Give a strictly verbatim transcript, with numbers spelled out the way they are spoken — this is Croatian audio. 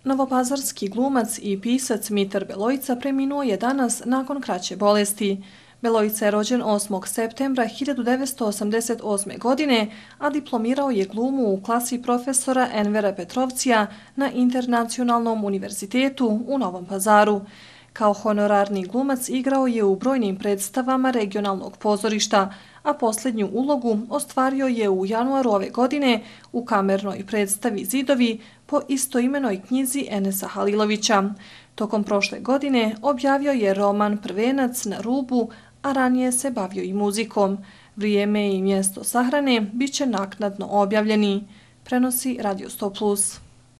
Novopazarski glumac i pisac Mitar Beloica preminuo je danas nakon kraće bolesti. Beloica je rođen osmog septembra hiljadu devetsto osamdeset osme. godine, a diplomirao je glumu u klasi profesora Envera Petrovcija na Internacionalnom univerzitetu u Novom Pazaru. Kao honorarni glumac igrao je u brojnim predstavama regionalnog pozorišta, a posljednju ulogu ostvario je u januaru ove godine u kamernoj predstavi Zidovi po istoimenoj knjizi Enesa Halilovića. Tokom prošle godine objavio je roman Prvenac na rubu, a ranije se bavio i muzikom. Vrijeme i mjesto sahrane bit će naknadno objavljeni, prenosi Radio sto plus.